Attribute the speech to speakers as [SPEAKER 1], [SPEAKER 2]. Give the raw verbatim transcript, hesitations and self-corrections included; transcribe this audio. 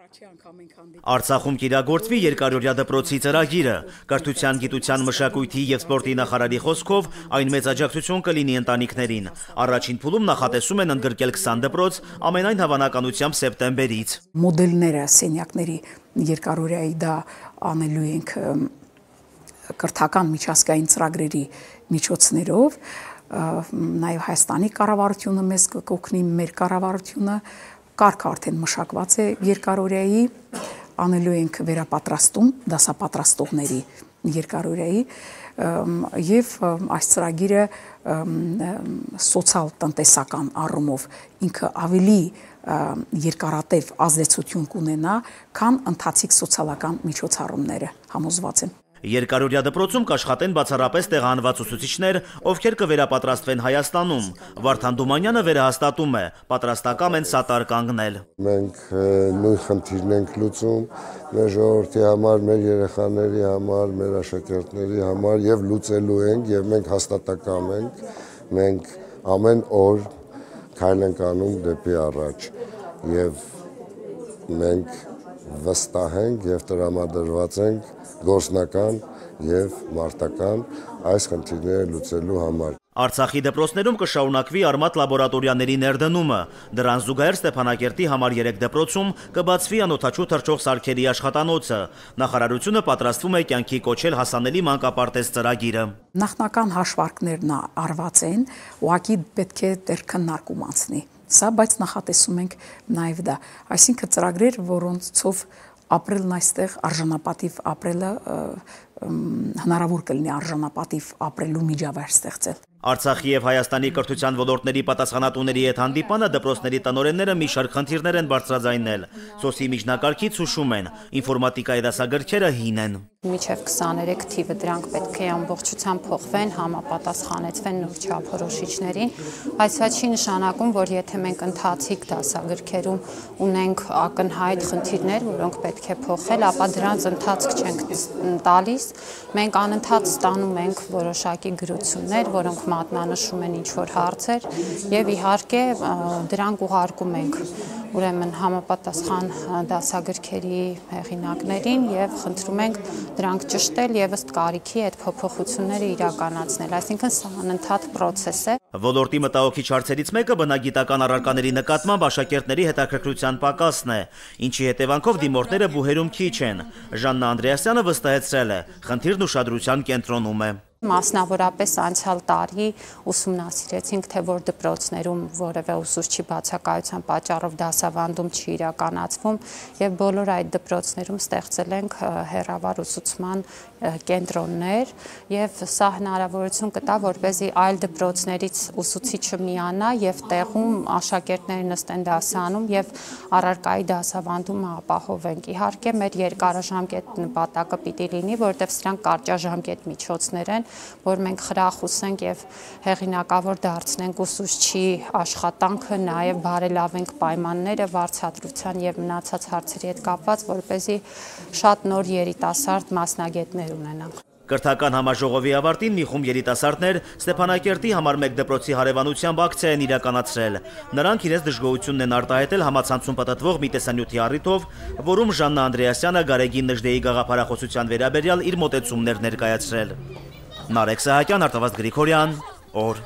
[SPEAKER 1] Արցախում կիրագործվի երկարօրյա դպրոցի ծրագիրը։ Կրթության, գիտության, մշակույթի և սպորտի նախարարի խոսքով այն մեծ աջակցություն կլինի ընտանիքներին։ Առաջին փուլում նախատեսում են ընդգրկել քսան դպրոց, ամենայն հավանականությամբ սեպտեմբերից։
[SPEAKER 2] Մոդելները սենյակների երկարօրյայի դա անելու ենք կրթական միջազգային ծրագրերի միջոցներով, նաև Հայաստանի կառավարությունը մեզ կօգնի, մեր կառավարությունը կարգ արդեն մշակված է երկարօրյայի, անելու ենք վերապատրաստում դասապատրաստողների երկարօրյայի եւ այս ծրագիրը սոցիալ-տնտեսական առումով ինքը ավելի երկարատև ազդեցություն կունենա, քան ընթացիկ սոցիալական միջոցառումները, համոզված եմ։
[SPEAKER 1] Երկարօրյա դպրոցում կաշխատեն բացառապես տեղահանված ուսուցիչներ, ովքեր կվերապատրաստվեն Հայաստանում։ Վարդան Դումանյանը վերահաստատում է, պատրաստակամ են սատար կանգնել։
[SPEAKER 3] Մենք նույն խնդիրն ենք լուծում մեր ժողովրդի համար, մեր երեխաների համար, մեր աշակերտների համար եւ լուծելու ենք եւ մենք հաստատակամ ենք, մենք ամեն օր քայլ ենք անում դեպի առաջ եւ մենք վստահ ենք եւ տրամադրված ենք գործնական եւ մարտական այս խնդիրները լուծելու համար։
[SPEAKER 1] Արցախի դպրոցներում կշարունակվի արմատ լաբորատորիաների ներդնումը։ Դրան զուգահեռ Ստեփանակերտի համար երեք դպրոցում կբացվի անօդաչու թռչող սարքերի աշխատանոցը։ Նախարարությունը պատրաստվում է կյանքի կոչել հասանելի մանկապարտեզ ծրագիրը։
[SPEAKER 2] Նախնական հաշվարկներն արված են, ուղղակի պետք է դեռ քննարկում անցնի։ Սա բայց նախատեսում ենք նաև դա, այսինքն ծրագրեր, որոնցով ապրելն այստեղ արժանապատիվ ապրելը հնարավոր կլինի արժանապատիվ ապրելու միջավայր ստեղծել։
[SPEAKER 1] Արցախի եւ Հայաստանի կրթության ոլորտների պատասխանատուների հետ հանդիպանը դպրոցների տնօրենները մի շարք խնդիրներ են բարձրաձայնել։ Սոսի միջնակարգից հուշում են, ինֆորմատիկայի դասագրքերը հին են։
[SPEAKER 4] Մինչև քսաներեք թիվը դրանք պետք է ամբողջությամբ փոխվեն, համապատասխանեցվեն նոր չափորոշիչներին, բայց սա չի նշանակում, որ եթե մենք ընթացիկ դասագրքերում ունենք ակնհայտ խնդիրներ, որոնք պետք է փոխել, ապա դրանց ընթացք չենք տալիս։ Մենք անընդհատ ստանում ենք որոշակի գրություններ, որոնք մատնանշում են ինչ-որ հարցեր եւ իհարկե դրանք ուղարկում ենք ուրեմն համապատասխան դասագրքերի հեղինակներին եւ խնդրում ենք դրանք ճշտել եւ ըստ կարիքի այդ փոփոխությունները իրականացնել, այսինքն սա անընդհատ process է։
[SPEAKER 1] Ոլորտի մտահոգիչ հարցերից մեկը բնագիտական առարկաների նկատմամբ աշակերտների հետաքրքրության պակասն է, ինչի հետևանքով դիմորդները բուհերում քիչ են։ Ժաննա Անդրեասյանը վստահեցրել է, խնդիրն ուշադրության կենտրոնում է։
[SPEAKER 4] Մասնավորապես անցյալ տարի ուսումնասիրեցինք, թե որ դպրոցներում որևէ ուսուցչի բացակայության պատճառով դասավանդում չի իրականացվում եւ բոլոր այդ դպրոցներում ստեղծել ենք հեռավար ուսուցման կենտրոններ եւ սա հնարավորություն կտա, որպեսզի այլ դպրոցներից ուսուցիչը միանա եւ տեղում աշակերտները նստեն դասանում եւ առարկայի դասավանդումը ապահովենք։ Իհարկե մեր երկարաժամկետ նպատակը պիտի լինի, որտեղ սրանք կարճաժամկետ միջոցներ են, որ մենք խրախուսենք եւ հեղինակավոր դարձնենք ուսուցչի աշխատանքը, նաեւ բարելավենք պայմանները վարձատրության եւ մնացած հարցերի հետ կապված, որպեսզի շատ նոր երիտասարդ մասնագետներ ունենանք։
[SPEAKER 1] Կրթական համաժողովի ավարտին մի խումբ երիտասարդներ Ստեփանակերտի համար մեկ դպրոցի հարևանությամբ ակցիա են իրականացրել։ Նրանք իրենց դժգոհությունն են արտահայտել համացանցում պատտվող մի տեսանյութի առիթով, որում Ժաննա Անդրեասյանը Գարեգին Նժդեի գաղափարախոսության վերաբերյալ իր մոտեցումներ ներկայացրել։ Նարեկ Սահակյան, Արտավազդ Գրիգորյան, օր։